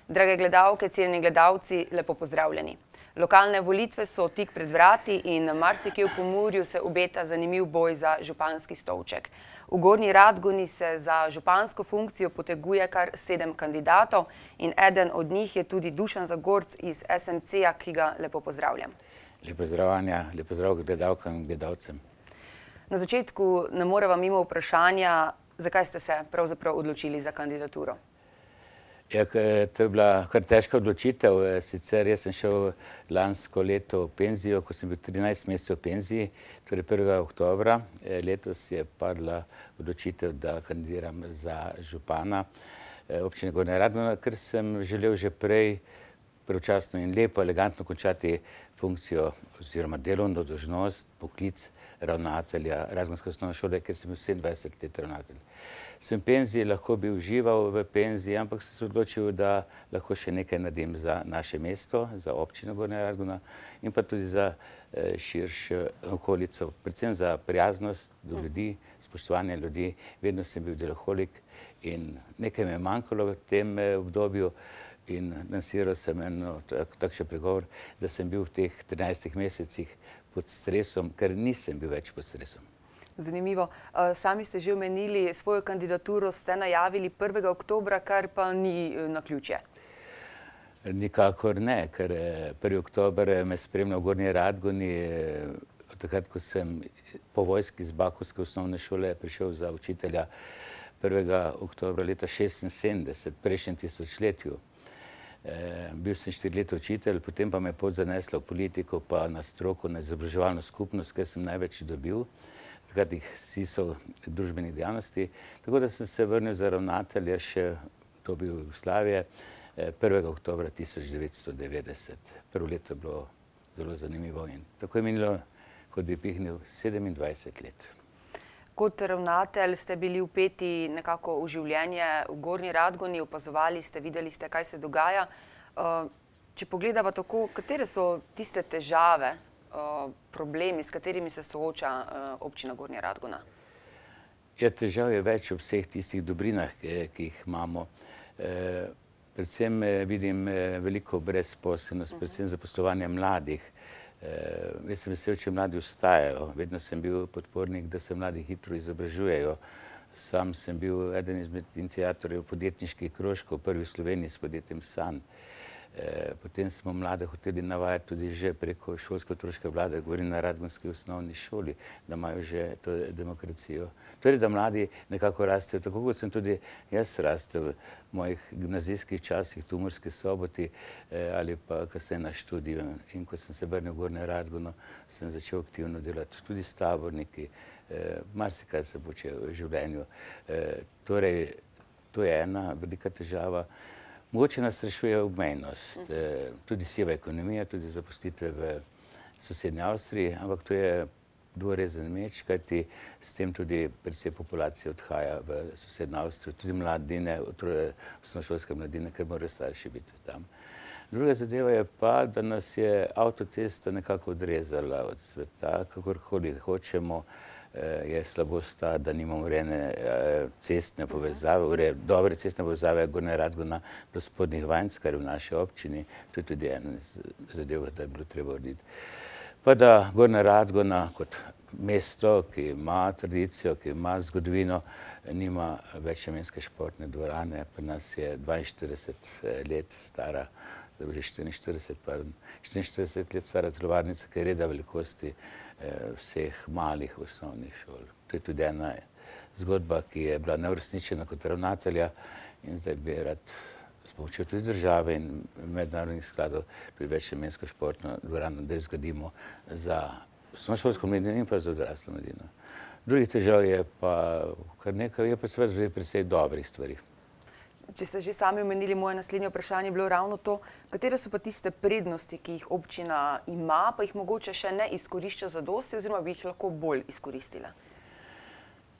Drage gledalke, cenjeni gledalci, lepo pozdravljeni. Lokalne volitve so tik pred vrati in marsikje v Pomurju se obeta zanimiv boj za županski stolček. V Gornji Radgoni se za župansko funkcijo poteguje kar 7 kandidatov in eden od njih je tudi Dušan Zagorc iz SMC-ja, ki ga lepo pozdravljam. Lep pozdrav, Anja, lep pozdrav gledalkam in gledalcem. Na začetku ne moreva mimo vprašanja, zakaj ste se pravzaprav odločili za kandidaturo? Ja, to je bila kar težka odločitev. Sicer jaz sem šel lansko leto v penzijo, ko sem bil 13 mesecev v penziji, torej 1. oktobra. Letos je padla odločitev, da kandidiram za župana občine Gornja Radgona, ker sem želel že prej pravočasno in lepo, elegantno končati funkcijo oziroma delovno dolžnost, poklic ravnatelja Radgonske osnovne šole, ker sem bil 27 let ravnatelj. Sem v penziji, lahko bi užival v penziji, ampak sem se odločil, da lahko še nekaj naredim za naše mesto, za občino Gornja Radgona in pa tudi za širšo okolico, predvsem za prijaznost do ljudi, spoštovanje ljudi. Vedno sem bil deloholik in nekaj me je manjkalo v tem obdobju in lansiral sem takšen pregovor, da sem bil v teh 13 mesecih pod stresom, ker nisem bil več pod stresom. Zanimivo. Sami ste že omenili, svojo kandidaturo ste najavili 1. oktobra, kar pa ni naključje. Nikakor ne, ker 1. oktober me spremlja v Gornji Radgoni, takrat, ko sem po vojski z Bakovske osnovne šole prišel za učitelja 1. oktobra leta 1976, prejšnjem tisočletju. Bil sem 4 leta učitelj, potem pa me je pot zanesla v politiko, pa na stroko, na izobraževalno skupnost, ker sem največ dobil. Takrat vsi so družbenih dejavnosti. Tako da sem se vrnil za ravnatelja še v dobi Jugoslavije 1. oktobra 1990. Prvo leto je bilo zelo zanimivo in tako je minilo, kot bi pihnil, 27 let. Kot ravnatelj ste bili vpeti nekako v življenje v Gornji Radgoni, opazovali ste, videli ste, kaj se dogaja. Če pogledava tako, katere so tiste težave, problemi, s katerimi se sooča občina Gornja Radgona? Ja, težav je več v vseh tistih dobrinah, ki jih imamo. Predvsem vidim veliko brezposelnost, predvsem zaposlovanje mladih. Jaz sem vesel, če mladi ostajajo. Vedno sem bil podpornik, da se mladi hitro izobražujejo. Sam sem bil eden izmed iniciatorjev podjetniških krožkov, prvi v Sloveniji s podjetjem San. Potem smo mlade hoteli navajati tudi že preko šolsko-otroške vlade, govorim na Radgonski osnovni šoli, da imajo že to demokracijo. Torej, da mladi nekako rastejo, tako kot sem tudi jaz rastel v mojih gimnazijskih časih, v Murski Soboti ali pa kasneje na študiju. In ko sem se vrnil v Gornjo Radgono, sem začel aktivno delati tudi s taborniki, marsikaj se počel v življenju. Torej, to je ena velika težava. Mogoče nas rešuje obmejnost, tudi siva ekonomija, tudi zaposlitve v sosednji Avstriji, ampak to je dvorezen meč, kajti s tem tudi precej populacije odhaja v sosednjo Avstrijo, tudi mladine, osnovnošolske mladine, ker morajo starši biti tam. Druga zadeva je pa, da nas je avtocesta nekako odrezala od sveta, kakorkoli hočemo. Je slabost ta, da nimamo urejene cestne povezave, dobre cestne povezave Gornja Radgona do Spodnjih Vanjc, kar je v naši občini. To je tudi ena zadeva, da je bilo treba urediti. Pa da Gornja Radgona kot mesto, ki ima tradicijo, ki ima zgodovino, nima več namenske športne dvorane. Pri nas je 42 let stara, da bo že 44 let stara telovadnica, ki je reda velikosti vseh malih osnovnih šol. To je tudi ena zgodba, ki je bila neuresničena kot ravnatelja in zdaj bi rad s pomočjo tudi države in mednarodnih skladov tudi večnamensko športno dvorano, da jo zgradimo za osnovnošolsko mladino in pa za odraslo mladino. Drugih težav je pa kar nekaj, je pa seveda tudi precej dobrih stvari. Če ste že sami omenili, moje naslednje vprašanje je bilo ravno to, katere so pa tiste prednosti, ki jih občina ima, pa jih mogoče še ne izkorišča zadosti oziroma bi jih lahko bolj izkoristila?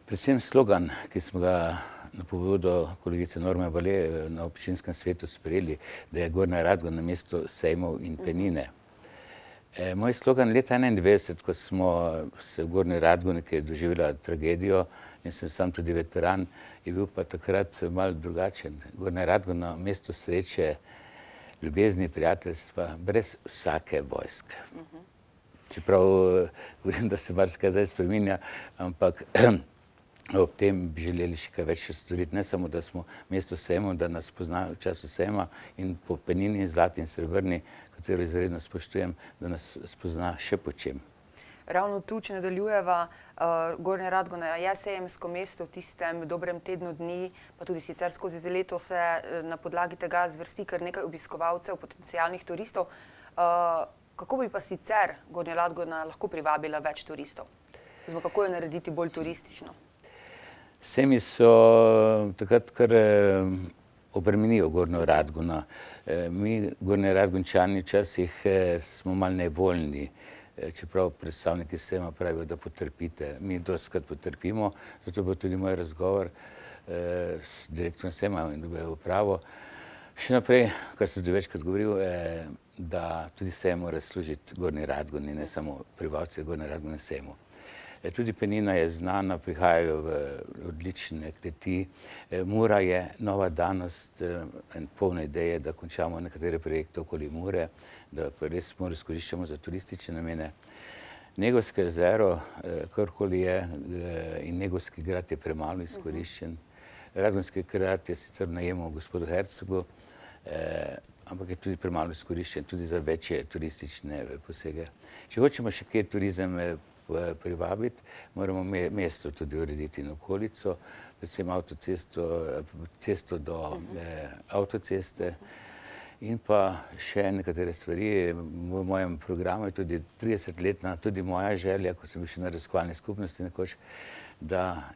Predvsem slogan, ki smo ga na pobudo kolegice Norme Vale na občinskem svetu sprejeli, da je Gornja Radgona mesto sejmov in penine. Moj slogan leta 1991, ko smo se v Gornji Radgoni, ki je doživela tragedijo in sem sam tudi veteran, je bil pa takrat malo drugačen. Gornja Radgona, mesto sreče, ljubezni, prijateljstva, brez vsake vojske. Čeprav govorim, da se marsikaj zdaj spreminja, ampak ob tem bi želeli še kaj več storiti. Ne samo, da smo mesto sejmov, da nas pozna v času sejma in po penini, zlati in srebrni, katero izredno spoštujem, da nas spozna še po čem. Ravno tu, če nadaljujeva, Gornja Radgona je sejemsko mesto v tistem dobrem tednu dni, pa tudi sicer skozi leto se na podlagi tega zvrsti kar nekaj obiskovalcev, potencialnih turistov. Kako bi pa sicer Gornja Radgona lahko privabila več turistov? Oziroma, kako jo narediti bolj turistično? Sejmi so takrat kar obremenijo Gornjo Radgono. Mi, Gornji Radgončani, včasih smo malo nevoljni, čeprav predstavniki sejma pravijo, da potrpite. Mi dostikrat potrpimo, zato bo tudi moj razgovor s direktorjem sejma in dobijo upravo. Še naprej, kar sem tudi večkrat govoril, da tudi sejem mora služiti Gornji Radgoni, ne samo prebivalci Gornje Radgone sejmu. Tudi penina je znana, prihajajo v odlične kleti. Mura je nova danost, polna ideje, da končamo nekatere projekte okoli Mure, da pa res Muro izkoriščamo za turistične namene. Negovsko jezero, karkoli je, in Negovski grad je premalo izkoriščen. Radgonski grad je sicer v najemu gospodu Hercegu, ampak je tudi premalo izkoriščen, tudi za večje turistične posege. Če hočemo še kje turizem privabiti, moramo mesto tudi urediti in okolico, predvsem cesto do avtoceste in pa še nekatere stvari. V mojem programu je tudi 30-letna, tudi moja želja, ko sem bil še na raziskovalni skupnosti nekoč, da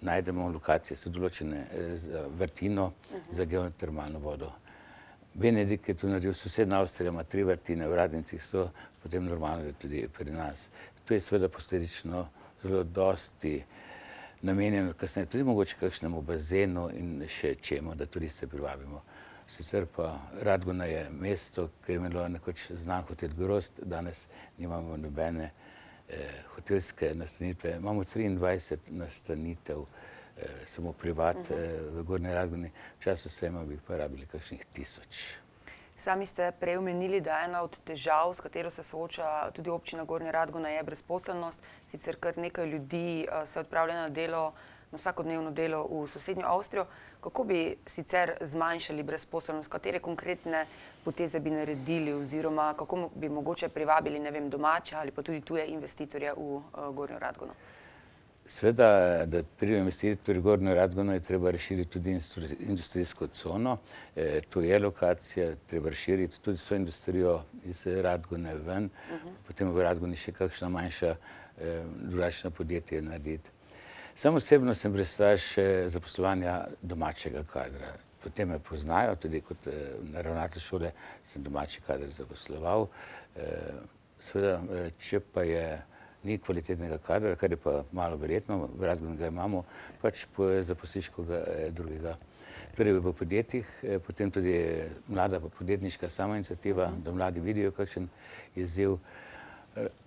najdemo lokacije, so določene za vrtino, za geotermalno vodo. Benedikt je to naredil, sosednja Avstrija ima 3 vrtine, v Radnicah so, potem normalno je tudi pri nas. To je seveda posledično zelo dosti namenjeno kasneje, tudi mogoče kakšnemu bazenu in še čemu, da turiste privabimo. Sicer pa Radgona je mesto, ker je imelo nekoč znan hotel Grozd, danes nimamo nobene hotelske nastanitve. Imamo 23 nastanitev, samo privat v Gornji Radgoni, v času sejma bi pa rabili kakšnih 1000. Sami ste prej omenili, da ena od težav, s katero se sooča tudi občina Gornja Radgona, je brezposelnost. Sicer kar nekaj ljudi se odpravlja na delo, na vsakodnevno delo v sosednjo Avstrijo. Kako bi sicer zmanjšali brezposelnost? Katere konkretne poteze bi naredili oziroma kako bi mogoče privabili, ne vem, domače ali pa tudi tuje investitorje v Gornjo Radgono? Sveda, da pride investitor v Gornjo Radgono, je treba razširiti tudi industrijsko cono. To je lokacija, treba razširiti tudi svojo industrijo iz Radgone ven, potem v Radgoni še kakšna manjša drugačna podjetja narediti. Sam osebno sem pristaš zaposlovanja domačega kadra. Potem me poznajo, tudi kot ravnatelj šole sem domači kader zaposloval. Seveda, če pa ni kvalitetnega kadra, kar je pa malo verjetno, v Radgoni ga imamo, pač zaposliš koga drugega. Torej v podjetjih, potem tudi mlada podjetniška samoiniciativa, da mladi vidijo, kakšen je izziv.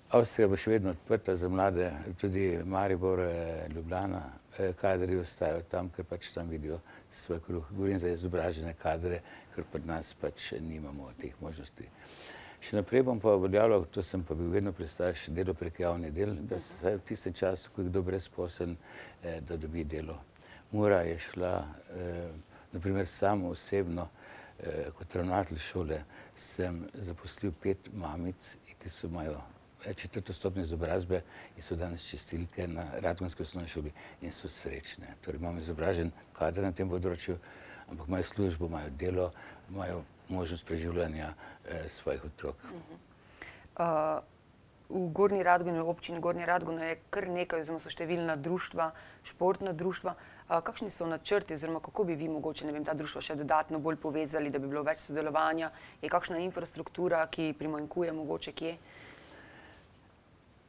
Avstrija bo še vedno odprta za mlade, tudi Maribor, Ljubljana, kadri ostajajo tam, ker pač tam vidijo svoj kruh. Govorim za izobražene kadre, ker pri nas pač nimamo teh možnosti. Še naprej bom pa uveljavljal, to sem pa bil vedno pristaš, delo prek javnih del, da se v tistem času, ko je kdo brezposeln, da dobi delo. Mura je šla, naprimer sam osebno, kot ravnatelj šole, sem zaposlil 5 mamic, ki so imajo 4. stopnjo izobrazbe in so danes čistilke na Radgonski osnovni šoli in so srečne. Torej imamo izobražen kader na tem področju, ampak imajo službo, imajo delo, imajo možnost preživljanja svojih otrok. V Gornji Radgoni, v občini Gornja Radgona je kar nekaj, oziroma so številna društva, športna društva. Kakšni so načrti, oziroma kako bi vi mogoče, ne vem, ta društva še dodatno bolj povezali, da bi bilo več sodelovanja? Je kakšna infrastruktura, ki primanjkuje mogoče kje?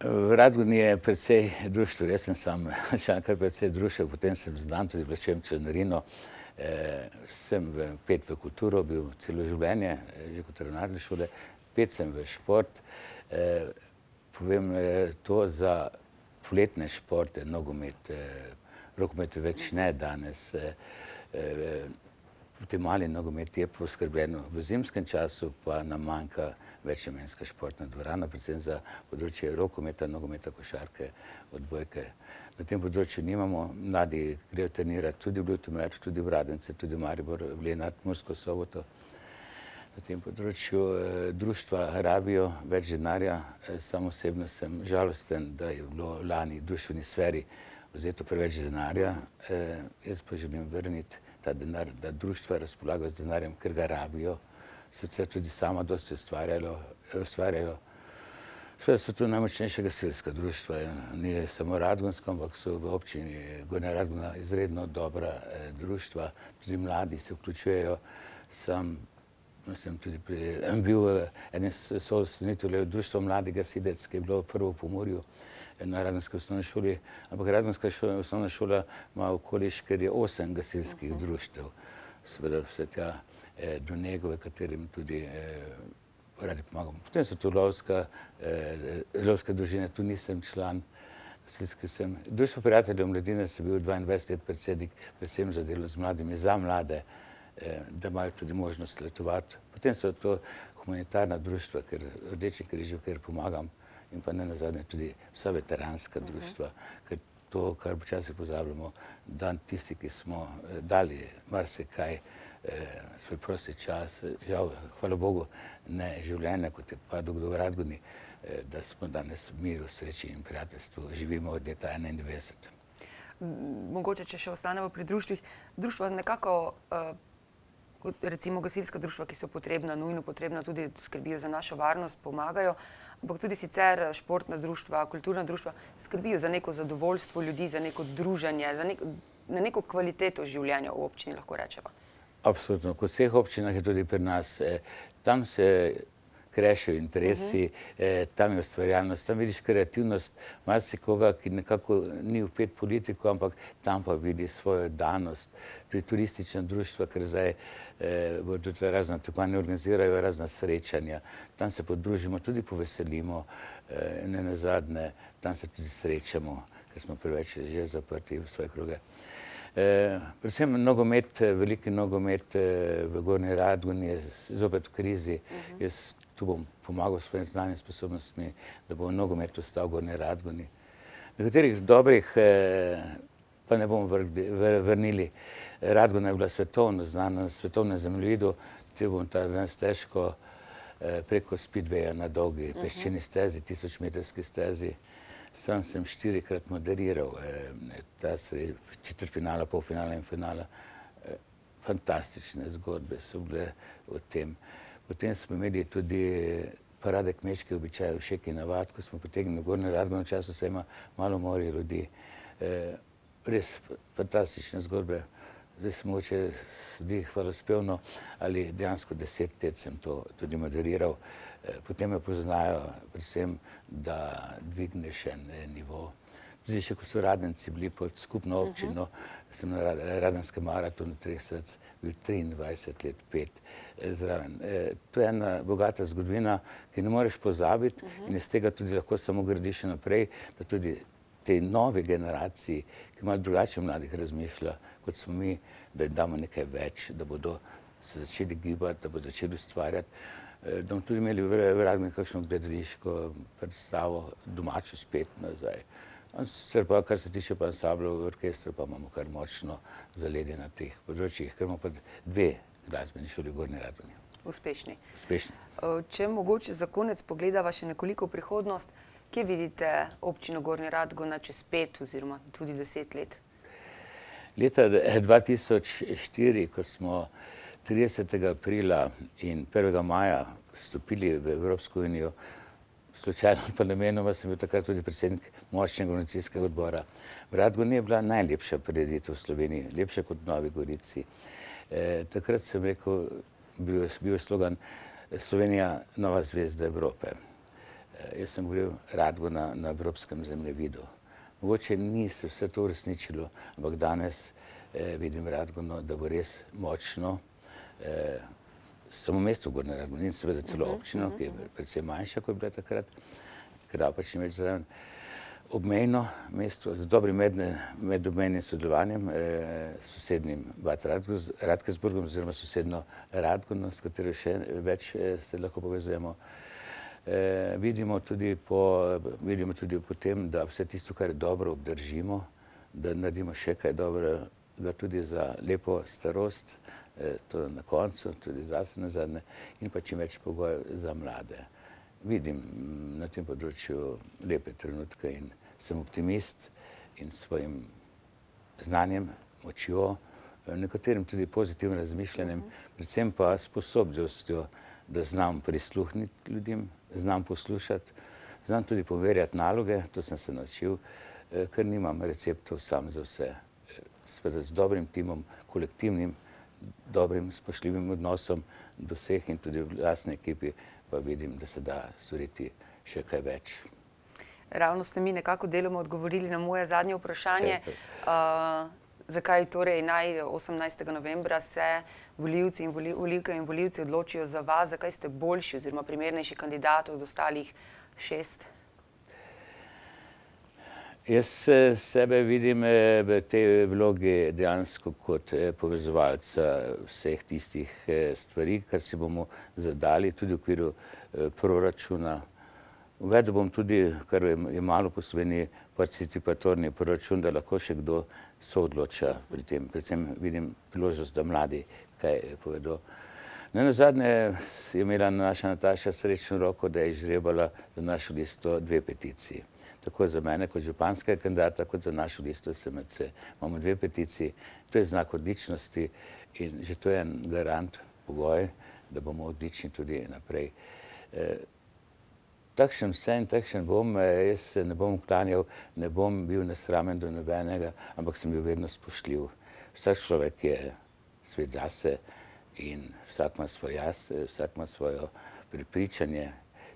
V Radgoni je precej društev, jaz sem sam član kar precej društev, potem sem znan, tudi plačujem članarino. Sem vpet v kulturo, bil celo življenje, že kot ravnatelj šole, spet sem v šport. Povem to za poletne športe, nogomet, rokomet več ne danes. V tem mali nogomet je poskrbljeno. V zimskem času pa nam manjka večnamenska športna dvorana, predvsem za področje rokometa, nogometa, košarke, odbojke. Na tem področju nimamo, mladi grejo trenirati tudi v Ljutomer, tudi v Radence, tudi v Maribor, v Lenart, Mursko Soboto. Na tem področju društva rabijo več denarja. Sam osebno sem žalosten, da je bilo lani v društveni sferi vzeto preveč denarja. Jaz pa želim vrniti ta denar, da društva razpolagajo z denarjem, ker ga rabijo. Sicer tudi sama dosti ustvarjajo. Seveda so tu najmočnejša gasilska društva, ni samo radgonsko, ampak so v občini Gornja Radgona izredno dobra društva, tudi mladi se vključujejo. Sam sem tudi bil eden soustanoviteljev društva Mladi gasilec, ki je bilo prvo v Pomurju na Radgonski osnovni šoli, ampak Radgonska osnovna šola ima okoliš, ker je 8 gasilskih društev. Seveda vse tja do Negove, katerim tudi radi pomagamo. Potem so tu lovske družine, tu nisem član, gasilski sem. Društvo prijateljev mladine sem bil 22 let predsednik, predvsem za delo z mladimi, za mlade, da imajo tudi možnost letovati. Potem so to humanitarna društva, ker Rdeči križ, ker pomagam, in pa ne nazadnje tudi vsa veteranska društva, ker to, kar včasih pozabljamo, da tisti, ki smo dali marsikaj, svoj prosti čas, žal, hvala Bogu, ne življenja, kot je pa v Radgoni, da smo danes v miru, sreči in prijateljstvu, živimo od leta 1991. Mogoče, če še ostanemo pri društvih, društva nekako, recimo gasilska društva, ki so potrebna, nujno potrebna, tudi skrbijo za našo varnost, pomagajo, ampak tudi sicer športna društva, kulturna društva skrbijo za neko zadovoljstvo ljudi, za neko druženje, na neko kvaliteto življenja v občini, lahko rečemo. Absolutno. Kot v vseh občinah je tudi pri nas. Tam se krešejo interesi, tam je ustvarjalnost, tam vidiš kreativnost marsikoga, ki nekako ni vpet politiko, ampak tam pa vidi svojo danost. Tudi turistična društva, ker zdaj bodo tudi razna tekmovanja, organizirajo razna srečanja. Tam se podružimo, tudi poveselimo, ne nazadnje, tam se tudi srečamo, ker smo preveč že zaprti v svoje kroge. Predvsem nogomet, veliki nogomet v Gornji Radgoni je zopet v krizi. Jaz tu bom pomagal s svojim znanjem, sposobnostmi, da bo nogomet ostal v Gornji Radgoni. Nekaterih dobrih pa ne bomo vrnili. Radgona je bila svetovno znana, na svetovnem zemljevidu, tu bom ta danes težko preko Speedwaya na dolgi peščeni stezi, 1000-metrski stezi. Sam sem 4-krat moderiral ta četrtfinala, polfinala in finala. Fantastične zgodbe so bile o tem. Potem smo imeli tudi parade kmečkih običajev, šek in navad, ko smo potegnili v Gornjo Radgono, v času se ima malo morje ljudi. Res fantastične zgodbe. Zdaj se mogoče zdi hvalospevno, ali dejansko 10 let sem to tudi moderiral. Potem me poznajo predvsem, da dvigneš en nivo. Tudi še ko so Radenci bili pod skupno občino, sem na Radenskem maratonu 3 src bil 23 let 5 zraven. To je ena bogata zgodovina, ki ne moreš pozabiti in iz tega tudi lahko samo gradiš naprej, da tudi tej novi generaciji, ki malo drugače mladih razmišlja, kot smo mi, da jim damo nekaj več, da bodo se začeli gibati, da bodo začeli ustvarjati. Da bomo tudi imeli v Radgoni kakšno gledališko predstavo, domačo spet nazaj. Sicer pa, kar se tiče pa ansamblov v orkestru, pa imamo kar močno zaledje na teh področjih, ker imamo pa 2 glasbeni šoli v Gornji Radgoni. Uspešni. Uspešni. Če mogoče za konec pogledava še nekoliko prihodnost, kje vidite občino Gornja Radgona čez 5 oziroma tudi 10 let? Leta 2004, ko smo 30. aprila in 1. maja vstopili v Evropsko unijo, slučajno pa namenoma sem bil takrat tudi predsednik močnega organizacijskega odbora. V Radgoni je bila najlepša prireditev v Sloveniji, lepša kot v Novi Gorici. Takrat sem rekel, bil je slogan Slovenija nova zvezda Evrope. Jaz sem govoril Radgona na evropskem zemljevidu. Mogoče ni se vse to uresničilo, ampak danes vidim Radgono, da bo res močno, samo mesto Gornja Radgona in seveda celo občino, ki je predvsem manjša, kot je bila takrat, ker pač ni več zraven. Obmejno mesto z dobrim medobmejnim sodelovanjem s sosednjim Bad Radkersburgom oziroma sosedno Radgono, s katero še več se lahko povezujemo. Vidimo tudi po tem, da vse tisto, kar je dobro, obdržimo, da naredimo še kaj dobrega tudi za lepo starost, to na koncu, tudi zase nazadnje, in pa čim več pogojev za mlade. Vidim na tem področju lepe trenutke in sem optimist in svojim znanjem, močjo, nekaterim tudi pozitivnim razmišljanjem, predvsem pa sposobnostjo, da znam prisluhniti ljudem, znam poslušati, znam tudi poverjati naloge, to sem se naučil, ker nimam receptov sam za vse. Seveda z dobrim timom, kolektivnim, dobrim, spoštljivim odnosom do vseh in tudi v lastni ekipi pa vidim, da se da storiti še kaj več. Ravno ste mi nekako deloma odgovorili na moje zadnje vprašanje. Zakaj torej naj 18. novembra se volivci in volivke in volivci odločijo za vas, zakaj ste boljši oziroma primernejši kandidat od ostalih 6? Jaz sebe vidim v tej vlogi dejansko kot povezovalca vseh tistih stvari, kar si bomo zadali tudi v okviru proračuna. Uvedel bom tudi, kar je malo po Sloveniji, participatorni proračun, da lahko še kdo soodloča pri tem. Predvsem vidim priložnost, da mladi kaj povedo. Nenazadnje je imela naša Nataša srečno roko, da je izžrebala za našo listo 2 peticiji. Tako za mene kot županskega kandidata, kot za našo listo SMC. Imamo 2 peticiji, to je znak odličnosti in že to je en garant, pogoj, da bomo odlični tudi naprej. Takšen sem, takšen bom, jaz se ne bom uklanjal, ne bom bil nesramen do nobenega, ampak sem bil vedno spoštljiv. Vsak človek je svet zase in vsak ima svoj jaz, vsak ima svojo prepričanje.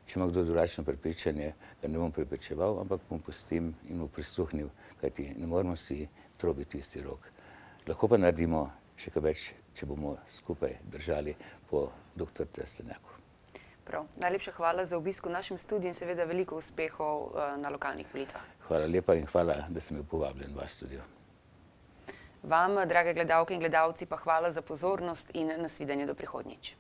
Če ima kdo drugačno prepričanje, ga ne bom prepričeval, ampak bom pustil in mu prisluhnil, kajti ne moramo si trobiti isti rok. Lahko pa naredimo še kaj več, če bomo skupaj držali po dr. Trstenjaku. Prav. Najlepša hvala za obisk v našem studiu in seveda veliko uspehov na lokalnih volitvah. Hvala lepa in hvala, da sem bil povabljen v vaš studio. Vam, drage gledalke in gledalci, pa hvala za pozornost in nasvidenje do prihodnjič.